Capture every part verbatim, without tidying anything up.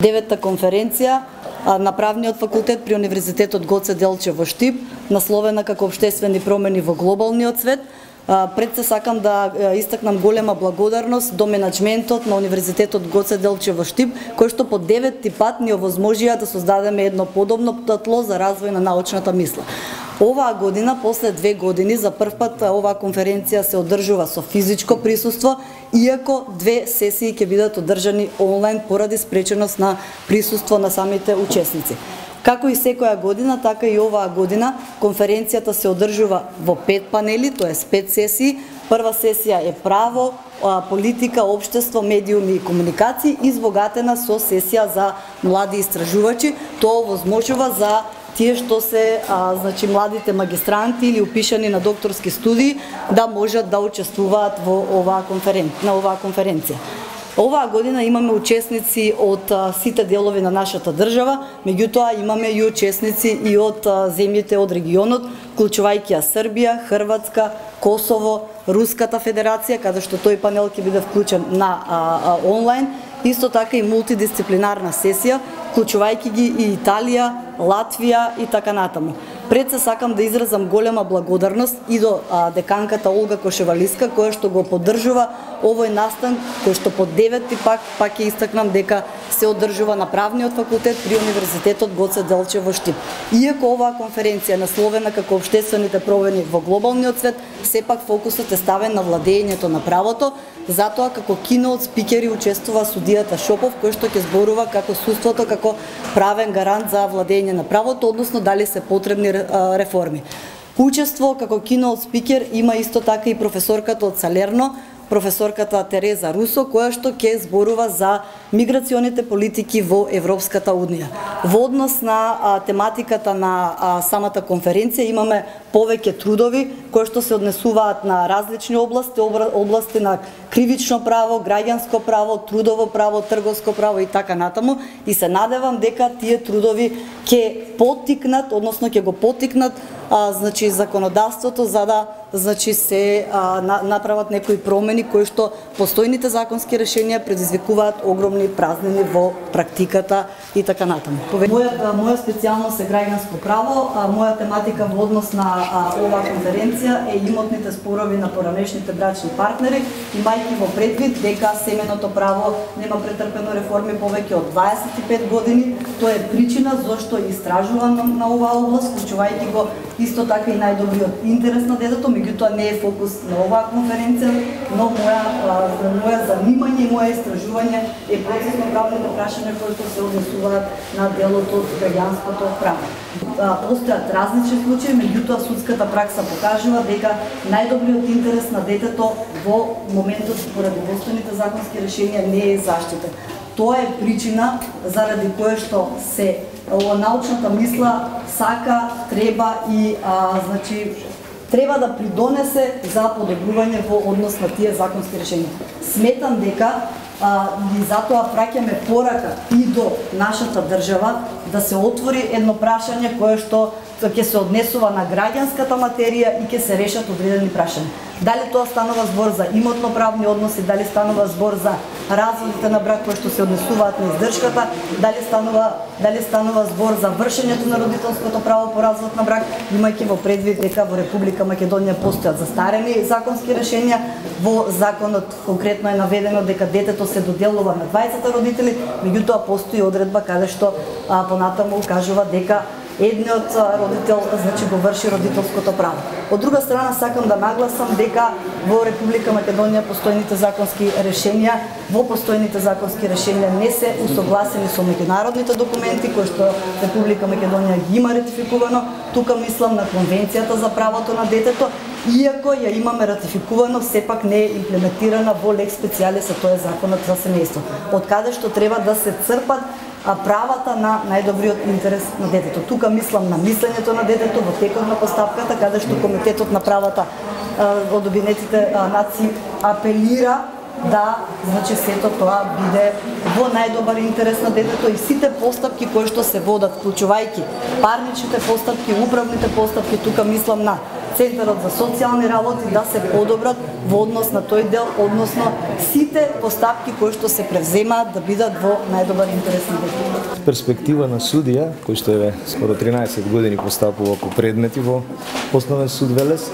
Деветта конференција на Правниот факултет при Универзитетот Гоце Делчев во Штип, насловена како Обштествени промени во глобалниот свет. Пред се сакам да истакнам голема благодарност до менаџментот на Универзитетот Гоце Делчев во Штип, кој што по деветти пат ни овозможија да создадеме едно подобно тло за развој на научната мисла. Оваа година, после две години, за прв пат оваа конференција се одржува со физичко присуство, иако две сесии ќе бидат одржани онлайн поради спреченост на присуство на самите учесници. Како и секоја година, така и оваа година конференцијата се одржува во пет панели, тоест пет сесии. Прва сесија е право, политика, општество, медиуми и комуникации, избогатена со сесија за млади истражувачи. Тоа овозможува за тие што се а, значи младите магистранти или упишани на докторски студии да можат да учествуваат во оваа конференција, на оваа конференција. Оваа година имаме учесници од а, сите делови на нашата држава, меѓутоа имаме и учесници и од а, земјите од регионот, вклучувајќи ја Србија, Хрватска, Косово, Руската Федерација, каде што тој панел ќе биде вклучен на а, а, онлайн, исто така и мултидисциплинарна сесија, вклучувајќи ги и Италија, Латвија и така натаму. Пред се сакам да изразам голема благодарност и до а, деканката Олга Кошевалиска, која што го поддржува овој настан, кој што по деветти пак пак ќе истакнам дека се одржува на Правниот факултет при Универзитетот Гоце Делчев во Штип. Иако оваа конференција насловена како Обштествените промени во глобалниот свет, сепак фокусот е ставен на владењето на правото, затоа како киноот спикери учествува судијата Шопов, кој што ќе зборува како судството како правен гарант за владење на правото, односно дали се потребни реформи. Учество како киноот спикер има исто така и професорката од Салерно, професорката Тереза Русо, која што ќе зборува за миграционите политики во Европската унија. Во однос на а, тематиката на а, самата конференција имаме повеќе трудови кои што се однесуваат на различни области, области на кривично право, граѓанско право, трудово право, трговско право и така натаму, и се надевам дека тие трудови ќе поттикнат, односно ќе го поттикнат а, значи законодавството за да значи се а, на, направат некои промени кои што постојните законски решенија предизвикуваат огромни празнини во практиката и така натаму. Моја моја специјалност е граѓанско право, а моја тематика во однос на а, оваа конференција е имотните спорови на поранешните брачни партнери, имајќи во предвид дека семеното право нема претрпено реформи повеќе од дваесет и пет години. Тоа е причина зошто истражувам на, на оваа област, вклучувајќи го исто така и најдобриот интерес на детето, меѓутоа не е фокус на оваа конференција, но моја моја занимање и моја истражување е процесно правните прашања кои што се однесуваат на делот од граѓанското право. Постојат различни случаи, меѓутоа судската пракса покажува дека најдобриот интерес на детето во моментот поради постојните законски решенија не е заштитен. Тоа е причина заради која што се научната мисла сака, треба и а, значи треба да придонесе за подобрување во однос на тие законски решенија. Сметам дека а, и затоа праќаме порака и до нашата држава да се отвори едно прашање кое што ќе се однесува на граѓанската материја и ќе се решат одредени прашања. Дали тоа станува збор за имотно-правни односи, дали станува збор за разводите на брак кои што се однесуваат на издршката, дали станува дали станува збор за вршењето на родителското право по развод на брак, имајќи во предвид дека во Република Македонија постојат застарени законски решенја. Во законот конкретно е наведено дека детето се доделува на дваесет родители, меѓутоа постои одредба каде што а, понатаму кажува дека едниот родител значи го врши родителското право. Од друга страна сакам да нагласам дека во Република Македонија постојните законски решенија, во постојните законски решенија не се усогласени со меѓународните документи кои што Република Македонија ги има ратификувано. Тука мислам на Конвенцијата за правото на детето, иако ја имаме ратификувано, сепак не е имплементирана во лекс специјалис, а тоа е законот за семејство, од каде што треба да се црпат а правата на најдобриот интерес на детето. Тука мислам на мислењето на детето во текот на постапката, каде што Комитетот на правата од Обединетите нации апелира да значи сето тоа биде во најдобар интерес на детето и сите постапки кои што се водат, вклучувајќи парничните постапки, управните постапки, тука мислам на Центарот за социјални работи да се подобрат во однос на тој дел, односно сите постапки кои што се превземаат да бидат во најдобар интерес на детето. Перспектива на судија, кој што е скоро тринаесет години постапува по предмети во Основен суд Велес,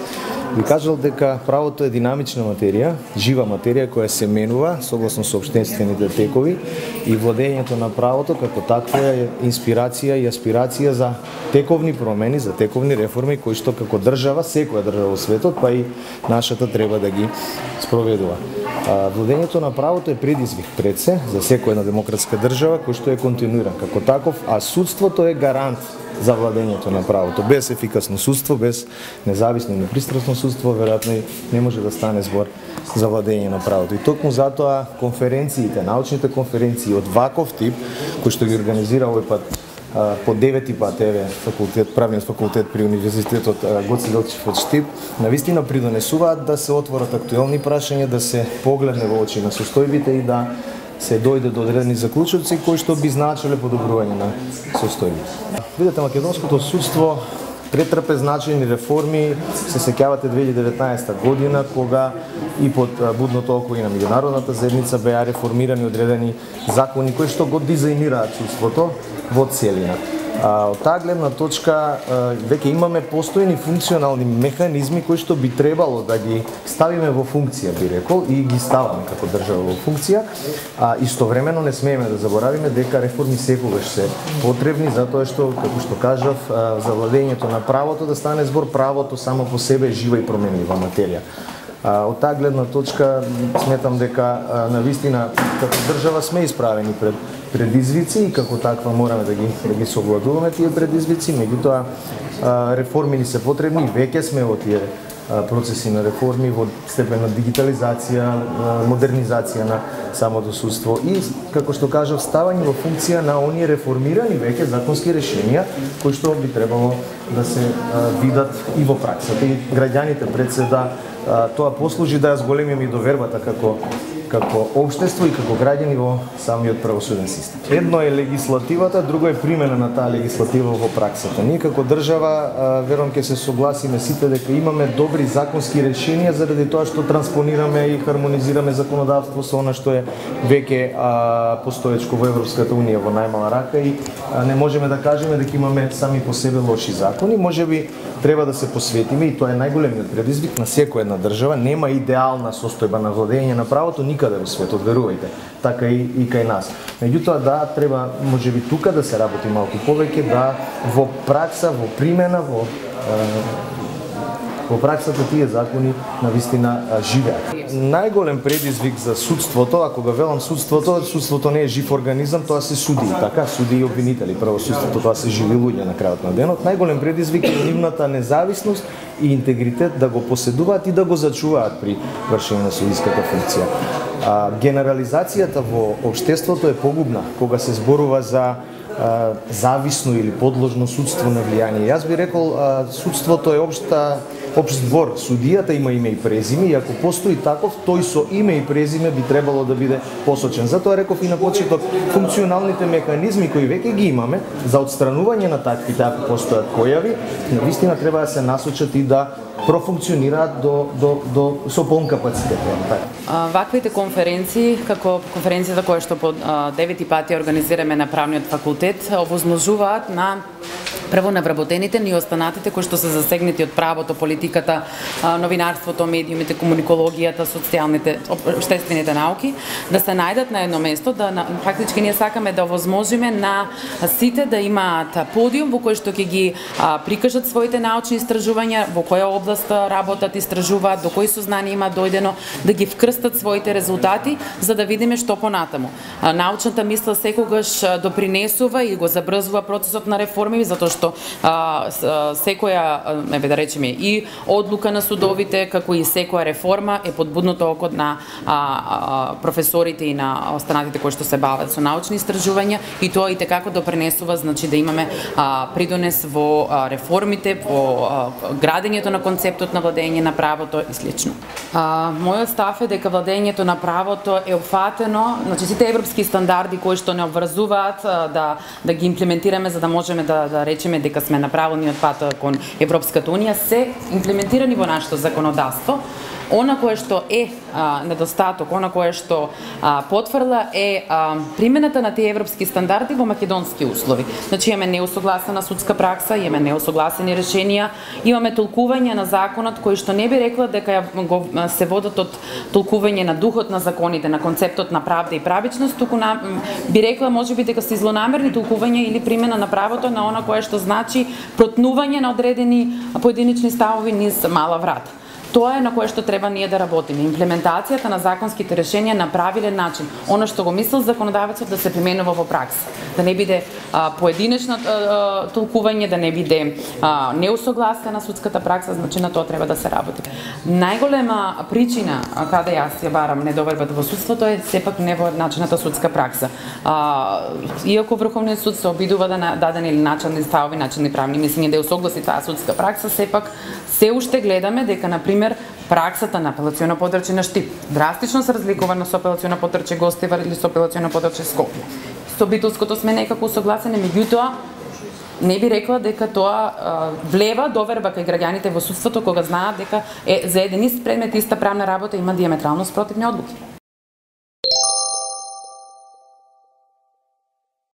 би кажал дека правото е динамична материја, жива материја која се менува согласно соопштенствените текови и владењето на правото како таква е инспирација и аспирација за тековни промени, за тековни реформи кои што како држава, секоја држава во светот, па и нашата треба да ги спроведува. Владењето на правото е предизвик пред се за секоја една демократска држава кој што е континуиран како таков, а судството е гарант за владењето на правото. Без ефикасно судство, без независно и непристрасно судство, веројатно не може да стане збор за владење на правото. И токму затоа конференциите, научните конференции од ваков тип, кои што ги организира овој пат по девети пат еве факултет, правниот факултет при Универзитетот Гоце Делчев од Штип, навистина придонесуваат да се отворат актуелни прашања, да се погледне во очи на состојбите и да се дојде до одредени заклучоци кои што би значеле подобрување на состојбите. Видете, македонското судство претрпе значајни реформи, се сеќавате две илјади и деветнаесета година, кога и под будното око и на меѓународната заедница беа реформирани одредени закони кои што го дизајнираат судството во целина. Од таа гледна точка веќе имаме постојни функционални механизми кои што би требало да ги ставиме во функција, би рекол, и ги ставаме како држава во функција. А истовремено не смееме да заборавиме дека реформи секогаш се потребни, затоа што, како што кажав, за владењето на правото да стане збор, правото само по себе е жива и променлива материја. Од таа гледна точка сметам дека навистина како држава сме исправени пред предизвици и како таква мораме да ги да ги совладуваме тие предизвици, меѓутоа реформи ни се потребни, веќе сме во тие процеси на реформи во степен на дигитализација, модернизација на самото судство и, како што кажав, ставање во функција на оние реформирани веќе законски решенија кои што би требало да се видат и во праксата и граѓаните пред се да тоа послужи да ја зголемиме и довербата како како општество и како граѓани во самиот правосуден систем. Едно е легислативата, друго е примена на таа легислатива во праксата. Ние како држава верувам ќе се согласиме сите дека имаме добри законски решенија заради тоа што транспонираме и хармонизираме законодавство со она што е веќе постоечко во Европската унија во најмала рака и а, не можеме да кажеме дека имаме сами по себе лоши закони. Можеби треба да се посветиме и тоа е најголемиот предизвик на секоја една држава. Нема идеална состојба на владење на правото никаде во светот, верувајте, така и, и кај нас. Меѓутоа, да, треба, можеби тука да се работи малку повеќе, да во пракса, во примена, во, во праксата тие закони навистина живеат. Најголем предизвик за судството, ако го велам судството, судството не е жив организам, тоа се суди, така, суди и обвинители, право судството, тоа се живи луѓе на крајот на денот. Најголем предизвик е нивната независност и интегритет да го поседуваат и да го зачуваат при вршење на судиската функција. А, генерализацијата во општеството е погубна кога се зборува за а, зависно или подложно судство на влијание. Јас би рекол а, судството е општа општ двор. Судијата има име и презиме и ако постои таков, тој со име и презиме би требало да биде посочен. Затоа реков и на почеток, функционалните механизми кои веќе ги имаме за отстранување на таквите ако постојат појави, навистина треба да се насочат и да профункционираат до, до, до, со полн капацитет. Ваквите конференции, како конференцијата која што по девети пати организираме на Правниот факултет, овозможуваат на прво на вработените и останатите кои што се засегнати од правото, политиката, новинарството, медиумите, комуникологијата, социјалните, општествените науки, да се најдат на едно место, да фактички ние сакаме да овозможиме на сите да имаат подиум во кој што ќе ги а, прикажат своите научни истражувања, во која област работат, истражуваат, до кои сознание има дојдено, да ги вкрстат своите резултати, за да видиме што понатаму. А, научната мисла секогаш допринесува и го забрзува процесот на реформи, затоа што а, секоја, еве да речеме, и одлука на судовите, како и секоја реформа е под будното око на а, а, професорите и на останатите кои што се бават со научни истражувања и тоа и tekako допринесува, значи да имаме а, придонес во а, реформите, во а, градењето на концептот на владење на правото и слично. А, мојот став е дека владењето на правото е опфатено, значи сите европски стандарди кои што не обврзуваат да да ги имплементираме за да можеме да да речеме дека сме на правилниот пат кон Европската унија, се имплементирани во нашето законодавство. Она кое што е а, недостаток, она кое што а, потврла е а, примената на тие европски стандарди во македонски услови. Значи имаме неусогласена судска пракса, имаме неусогласени решенија, имаме толкување на законот кои што не би рекла дека го се водат од толкување на духот на законите, на концептот на правда и правичност, туку на, би рекла можеби дека се злонамерни толкувања или примена на правото на она кое што значи протнување на одредени поединечни ставови низ мала врата. Тоа е на кое што треба ние да работиме. Имплементацијата на законските решенија на правилен начин. Оно што го мислел законодавецот да се применува во пракса. Да не биде а, поединечно а, толкување, да не биде а, неусогласена судската пракса, значи на тоа треба да се работи. Најголема причина а, каде јас ја барам недовербата во судството е сепак невоедначената судска пракса. А, иако Врховниот суд се обидува да дадени или начални ставови, начални правни мислења да ја согласи таа судска пракса, сепак се уште гледаме дека на пример праксата на апелационо подрачје на Штип драстично се разликува со апелационо подрачје Гостивар или со апелационо подрачје Скопје. Со Битолското сме некако согласени, меѓутоа не би рекла дека тоа а, влева доверба кај граѓаните во судството кога знаат дека е за еден ист предмет, иста правна работа има диаметрално спротивни одлуки.